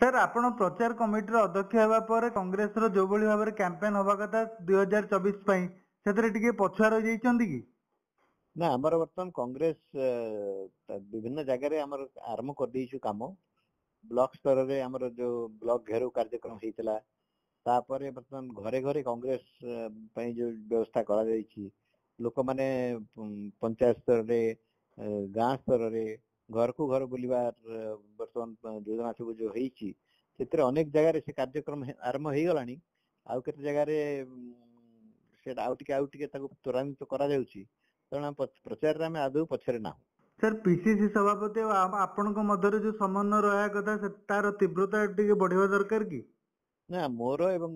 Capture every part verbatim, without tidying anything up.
Sir, ଆପଣ ପ୍ରଚାର କମିଟିର ଅଧ୍ୟକ୍ଷ ହେବା ପରେ କଂଗ୍ରେସର ଯୋଉଭଳି ଭାବରେ କ୍ୟାମ୍ପେନ୍ ହବା କଥା ଦୁଇ ହଜାର ଚବିଶ ପାଇଁ, ସେଥିରେ ଟିକେ ପଛୁଆ ରହିଯାଇଛନ୍ତି କି? ନା, ଆମର ବର୍ତ୍ତମାନ କଂଗ୍ରେସ ବିଭିନ୍ନ ଜାଗାରେ ଆମର ଆରମ୍ଭ କରିଦେଇଛୁ କାମ। ବ୍ଲକ ସ୍ତରରେ ଆମର ଯୋଉ ବ୍ଲକ ଘେରାଉ କାର୍ଯ୍ୟକ୍ରମ ହେଇଥିଲା, ତାପରେ ବର୍ତ୍ତମାନ ଘରେ ଘରେ କଂଗ୍ରେସ ପାଇଁ ଯୋଉ ବ୍ୟବସ୍ଥା କରାଯାଇଛି, ଲୋକମାନେ ପଞ୍ଚାୟତ ସ୍ତରରେ, ଗାଁ ସ୍ତରରେ ଘରକୁ ଘର ବୁଲିବା ବର୍ତ୍ତମାନ ଯୋଜନା ସବୁ ଯୋଉ ହେଇଛି, ସେଥିରେ ଅନେକ ଜାଗାରେ ସେ କାର୍ଯ୍ୟକ୍ରମ ଆରମ୍ଭ ହେଇଗଲାଣି। ଆଉ କେତେ ଜାଗାରେ ସେଇଟା ଆଉ ଟିକେ ଆଉ ଟିକେ ତାକୁ ତ୍ୱରାନ୍ୱିତ କରାଯାଉଛି। ତେଣୁ ପ୍ରଚାରରେ ଆମେ ଆଦୌ ପଛରେ ନାହୁଁ। ସାର୍, ପିସିସି ସଭାପତି ଆଉ ଆପଣଙ୍କ ମଧ୍ୟରେ ଯୋଉ ସମନ୍ୱୟ ରହିବା କଥା, ତାର ତୀବ୍ରତା ଟିକେ ବଢିବା ଦରକାର କି? ନା, ମୋର ଏବଂ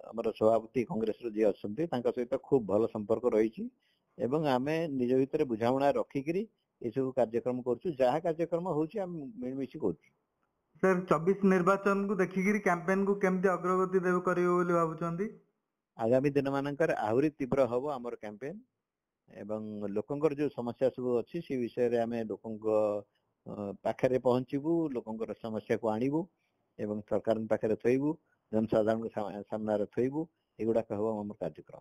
ଆମର ସଭାପତି କଂଗ୍ରେସର ଯିଏ ଅଛନ୍ତି, ତାଙ୍କ ସହିତ ଖୁବ ଭଲ ସମ୍ପର୍କ ରହିଛି ଏବଂ ଆମେ ନିଜ ଭିତରେ ବୁଝାମଣା ରଖିକିରି ଏସବୁ କାର୍ଯ୍ୟକ୍ରମ କରୁଛୁ। ଯାହା କାର୍ଯ୍ୟକ୍ରମ ହଉଛି, ଆମେ ମିଳିମିଶି କରୁଛୁ। ସାର୍, ଚବିଶ ନିର୍ବାଚନକୁ ଦେଖିକିରି କ୍ୟାମ୍ପେନକୁ କେମିତି ଅଗ୍ରଗତି ଦେବେ କରିବେ ବୋଲି ଭାବୁଛନ୍ତି? ଆଗାମୀ ଦିନମାନଙ୍କରେ ଆହୁରି ତୀବ୍ର ହବ ଆମର କ୍ୟାମ୍ପେନ୍ ଏବଂ ଲୋକଙ୍କର ଯୋଉ ସମସ୍ୟା ସବୁ ଅଛି, ସେ ବିଷୟରେ ଆମେ ଲୋକଙ୍କ ପାଖରେ ପହଞ୍ଚିବୁ, ଲୋକଙ୍କର ସମସ୍ୟାକୁ ଆଣିବୁ ଏବଂ ସରକାରଙ୍କ ପାଖରେ ଥୋଇବୁ, ଜନସାଧାରଣଙ୍କ ସାମ୍ନାରେ ଥୋଇବୁ। ଏଗୁଡ଼ାକ ହେବ ଆମର କାର୍ଯ୍ୟକ୍ରମ।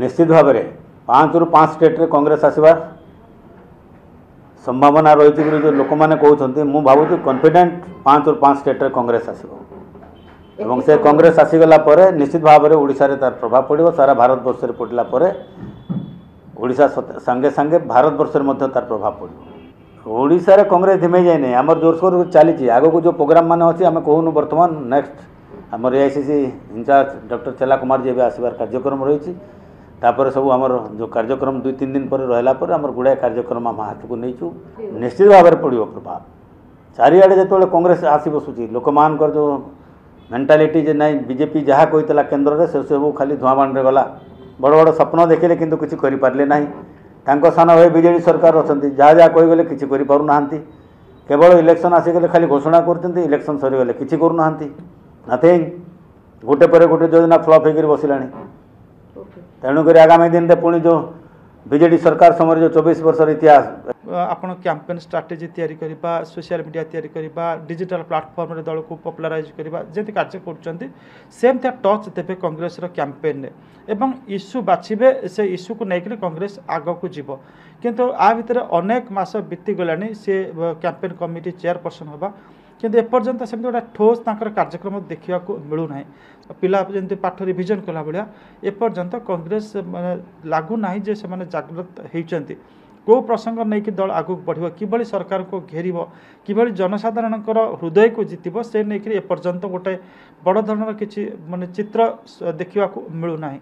ନିଶ୍ଚିତ ଭାବରେ ପାଞ୍ଚରୁ ପାଞ୍ଚ ଷ୍ଟେଟ୍ରେ କଂଗ୍ରେସ ଆସିବାର ସମ୍ଭାବନା ରହିଛି ବୋଲି ଯେଉଁ ଲୋକମାନେ କହୁଛନ୍ତି, ମୁଁ ଭାବୁଛି କନଫିଡେଣ୍ଟ ପାଞ୍ଚରୁ ପାଞ୍ଚ ଷ୍ଟେଟ୍ରେ କଂଗ୍ରେସ ଆସିବ ଏବଂ ସେ କଂଗ୍ରେସ ଆସିଗଲା ପରେ ନିଶ୍ଚିତ ଭାବରେ ଓଡ଼ିଶାରେ ତାର ପ୍ରଭାବ ପଡ଼ିବ। ସାରା ଭାରତବର୍ଷରେ ପଡ଼ିଲା ପରେ ଓଡ଼ିଶା ସାଙ୍ଗେ ସାଙ୍ଗେ ଭାରତବର୍ଷରେ ମଧ୍ୟ ତାର ପ୍ରଭାବ ପଡ଼ିବ। ଓଡ଼ିଶାରେ କଂଗ୍ରେସ ଧିମେଇ ଯାଇନାହିଁ, ଆମର ଜୋରସୋର ଚାଲିଛି। ଆଗକୁ ଯେଉଁ ପ୍ରୋଗ୍ରାମ ମାନେ ଅଛି, ଆମେ କହୁନୁ। ବର୍ତ୍ତମାନ ନେକ୍ସଟ ଆମର A I C C in charge doctor Chella Kumar ଏବେ ଆସିବାର କାର୍ଯ୍ୟକ୍ରମ ରହିଛି। ତାପରେ ସବୁ ଆମର ଯେଉଁ କାର୍ଯ୍ୟକ୍ରମ ଦୁଇ ତିନି ଦିନ ପରେ ରହିଲା ପରେ ଆମର ଗୁଡ଼ାଏ କାର୍ଯ୍ୟକ୍ରମ ଆମ ହାତକୁ ନେଇଛୁ। ନିଶ୍ଚିତ ଭାବରେ ପଡ଼ିବ ପ୍ରଭାବ। ଚାରିଆଡ଼େ ଯେତେବେଳେ କଂଗ୍ରେସ ଆସି ବସୁଛି, ଲୋକମାନଙ୍କର ଯେଉଁ ମେଣ୍ଟାଲିଟି ଯେ ନାଇଁ, ବିଜେପି ଯାହା କହିଥିଲା କେନ୍ଦ୍ରରେ ସେସବୁ ଖାଲି ଧୂଆଁ ବାଣରେ ଗଲା। ବଡ଼ ବଡ଼ ସ୍ୱପ୍ନ ଦେଖିଲେ କିନ୍ତୁ କିଛି କରିପାରିଲେ ନାହିଁ। ତାଙ୍କ ସାନ ଭାଇ ବିଜେଡ଼ି ସରକାର ଅଛନ୍ତି, ଯାହା ଯାହା କହିଗଲେ କିଛି କରିପାରୁନାହାନ୍ତି। କେବଳ ଇଲେକ୍ସନ୍ ଆସିଗଲେ ଖାଲି ଘୋଷଣା କରୁଛନ୍ତି, ଇଲେକ୍ସନ୍ ସରିଗଲେ କିଛି କରୁନାହାନ୍ତି, ନଥିଙ୍ଗ। ଗୋଟେ ପରେ ଗୋଟେ ଯୋଜନା ଫ୍ଲପ୍ ହେଇକରି ବସିଲାଣି। ତେଣୁକରି ଆଗାମୀ ଦିନରେ ପୁଣି ଯେଉଁ ବିଜେଡ଼ି ସରକାର ସମୟରେ ଯେଉଁ ଚବିଶ ବର୍ଷର ଇତିହାସ, ଆପଣ କ୍ୟାମ୍ପେନ୍ ଷ୍ଟ୍ରାଟେଜି ତିଆରି କରିବା, ସୋସିଆଲ ମିଡ଼ିଆ ତିଆରି କରିବା, ଡିଜିଟାଲ ପ୍ଲାଟଫର୍ମରେ ଦଳକୁ ପପୁଲାରାଇଜ୍ କରିବା ଯେମିତି କାର୍ଯ୍ୟ କରୁଛନ୍ତି, ସେମିତିଆ ଟଚ୍ ଦେବେ କଂଗ୍ରେସର କ୍ୟାମ୍ପେନ୍ରେ ଏବଂ ଇସ୍ୟୁ ବାଛିବେ, ସେ ଇସ୍ୟୁକୁ ନେଇକରି କଂଗ୍ରେସ ଆଗକୁ ଯିବ। କିନ୍ତୁ ଆ ଭିତରେ ଅନେକ ମାସ ବିତିଗଲାଣି ସେ କ୍ୟାମ୍ପେନ୍ କମିଟି ଚେୟାରପର୍ସନ୍ ହେବା, କିନ୍ତୁ ଏପର୍ଯ୍ୟନ୍ତ ସେମିତି ଗୋଟେ ଠୋସ୍ ତାଙ୍କର କାର୍ଯ୍ୟକ୍ରମ ଦେଖିବାକୁ ମିଳୁନାହିଁ। ପିଲା ଯେମିତି ପାଠ ରିଭିଜନ୍ କଲା ଭଳିଆ ଏପର୍ଯ୍ୟନ୍ତ କଂଗ୍ରେସ ମାନେ ଲାଗୁନାହିଁ ଯେ ସେମାନେ ଜାଗ୍ରତ ହେଇଛନ୍ତି। କେଉଁ ପ୍ରସଙ୍ଗ ନେଇକି ଦଳ ଆଗକୁ ବଢ଼ିବ, କିଭଳି ସରକାରଙ୍କୁ ଘେରିବ, କିଭଳି ଜନସାଧାରଣଙ୍କର ହୃଦୟକୁ ଜିତିବ, ସେ ନେଇକରି ଏପର୍ଯ୍ୟନ୍ତ ଗୋଟେ ବଡ଼ ଧରଣର କିଛି ମାନେ ଚିତ୍ର ଦେଖିବାକୁ ମିଳୁନାହିଁ।